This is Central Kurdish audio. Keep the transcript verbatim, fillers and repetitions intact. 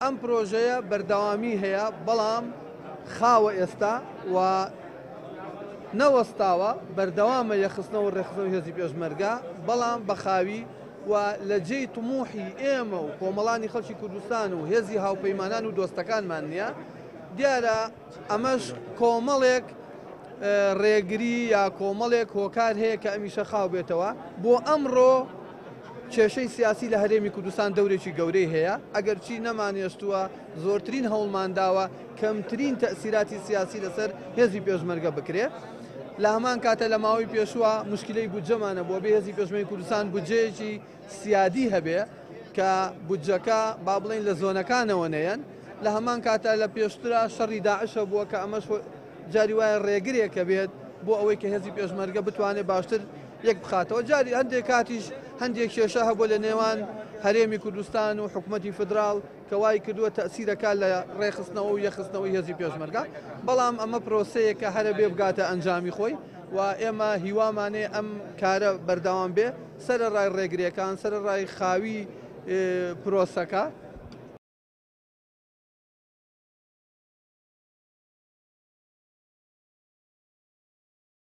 ئەم پرۆژەیە بەردەوامی هەیە، بەڵام خاوە ئێستا و نەوەستاوە، بەردەوامە یەخستنەوە ڕێکخستنەوەی هێزی پێشمەرگە، بەڵام بە خاوی و لە جێی طموحی ئێمە و کۆمەڵانی خەڵکی کوردستان و هێزی هاوپەیمانان و دۆستەکانمان نییە. دیارە ئەمەش کۆمەڵێک ڕێگری یا کۆمەڵێک هۆکار هەیە کە ئەمیشە خاو بێتەوە. بۆ ئەمڕۆ کێشەی سیاسی لە هەرێمی کوردستان دەورێکی گەورەی هەیە، ئەگەرچی نەمانێشتووە زۆرترین هەوڵمانداوە کەمترین تەئسیراتی سیاسی لەسەر هێزی پێشمەرگە بکرێت. لە هەمان کاتە لە ماوەی پێشووە مشکلەی بودجەمانە بۆ بێ هێزی پێشمەرگەی کوردستان بودجەیەکی سیادی هەبێ کە بودجەکە با بڵێن لە زۆنەکانەوە نەیەن. لە هەمان کاتە لە پێشترا شەڕی داعشە بووە کە ئەمەش جاری وایە ڕێگرێکە بێت بۆ ئەوەی کە هێزی پێشمەرگە بتوانێت باشتر یەک بخاتەوە. جاری هەندێک کاتیش هەندێک کێشە هەبوو لە نێوان هەرێمی کوردستان و حکوومەتی فیدراڵ کە وای کردووە تەئسیرەکە لە ڕێخستنەوە و یەخستنەوەی هێزی پێشمەرگە، بەڵام ئەمە پرۆسەیەکە هەرە بێ بگاتە ئەنجامی خۆی و ئێمە هیوامانێ ئەم کارە بەردەوام بێ سەرەڕای ڕێگرێکان، سەرەڕای خاوی پرۆسەکە،